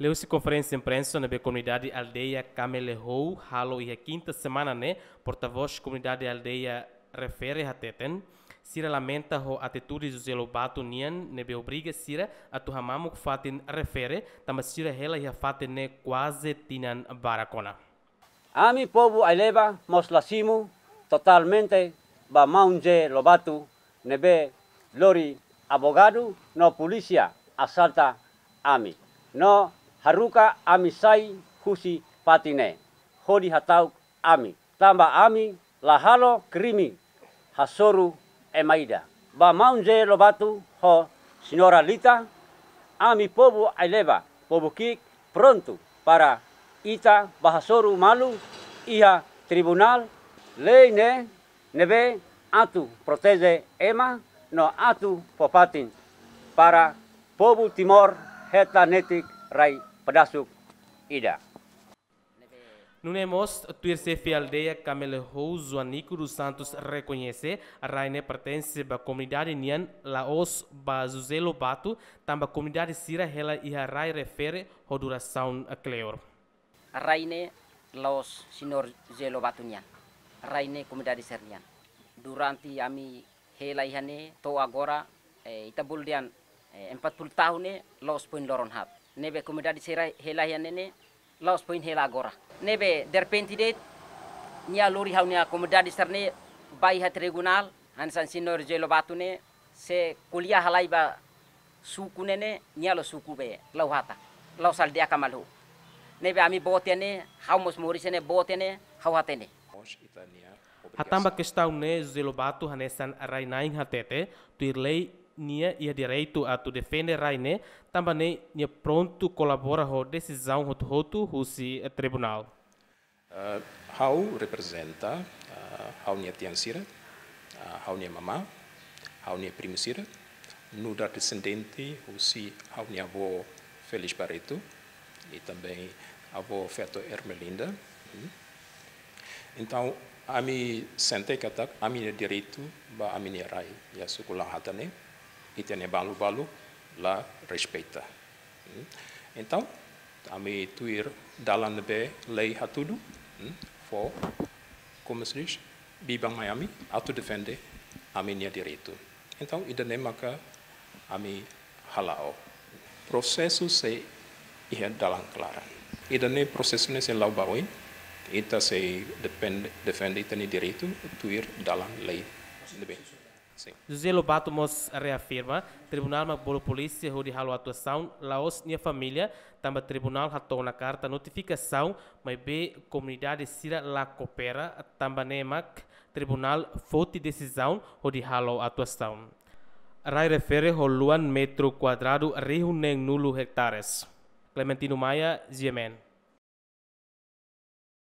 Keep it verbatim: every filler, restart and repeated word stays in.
Liuhusi konferénsia imprensa ne'ebé komunidade aldeia Kamelehou halo iha kinta semana ne'e, portavós komunidade aldeia refere hateten, sira lamenta ho atitude José Lobato nian ne'ebé obriga sira atu hamamuk fatin refere, tanba sira hela iha fatin ne'e kuaze tinan barak ona. Ami povu Aileba mós la simu totalmente ba maun José Lobato ne'ebé lori advogadu no polísia asalta ami. No haruka ami sai husi fatin ne'e hodi hata'uk ami. Tanba ami la halo krime hasoru ema ida. Ba maun José Lobato ho señora Lita, ami povu Aileba, povu ki'ik prontu para ita bá hasoru malu iha tribunál, lei ne'e ne'ebé atu proteje ema no atu fó fatin para povu Timor hetan netik rai pedasuk ida. Nune'e mós, tuir xefe aldeia Kamelehou Joanico dos Santos rekoñese, rai ne'e pertense ba komunidade nian, la'ós ba José Lobato, tanba komunidade sira hela iha rai refere ho durasaun kleur. Rai ne'e la'ós señór José Lobato nian. Rai ne'e komunidade sira nian. Durante ami hela iha ne'e to'o agora, eh, ita bolu dehan, eh, empat puluh tahun ne'e la'ós foin loron haat. Ne'ebé komunidade sira hela iha ne'e ne'e la'ós foin hela agora. Ne'ebé derrepente de'it nia lori ha'u-nia komunidade sira ne'e bá iha tribunál, hanesan señór José Lobato ne'e sei ko'alia halai ba suku ne'e ne'e, nia la'ós suku be, la'o hata, la'ós aldeia Kamelehou. Ne'ebé ami boot iha ne'e, ha'u mós moris iha ne'e, boot iha ne'e, ha'u hatene. Hatán ba kestaun ne'e, José Lobato hanesan rai-na'in hatete, tuir lei nia iha direitu atu defende rai ne'e, tanba ne'e nia prontu kolabora ho desizaun hotu-hotu husi tribunál. Eh, ha'u reprezenta, eh, ha'u-nia tian sira, eh, ha'u-nia mamá, ha'u-nia primu sira, nu'udar desendente husi ha'u-nia avó Félix Barreto, i também avó feto Ermelinda. Hmm. Entaun, ami sente katak ami-nia direitu ba ami-nia rai iha suku La'o Hata ne'e, ita-nia balu-balu la respeita. Hmm. Entaun, ami tuir dalan ne'ebé lei hatudu, hmm, fó, como se diz, biban mai ami, atu defende ami-nia direitu. Entaun, ida-ne'e maka ami hala'o. Prosesu sei iha dalan klaran. Ida-ne'e prosesu ne'e sei la'o ba oin, ita sei depende, defende ita-nia direitu tuir dalan lei ne'ebé. Sin. José Lobato mós reafirma, tribunál mak bolu polísia hodi halo atuasaun, la'ós nia família, tanba tribunál hato'o ona karta notifikasaun, maibé komunidade sira la koopera, tanba ne'e mak tribunál foti desizaun hodi halo atuasaun. Rai refere ho luan metru kuadradu rihun neen-nulu hektares. Clementino Maia, G M N.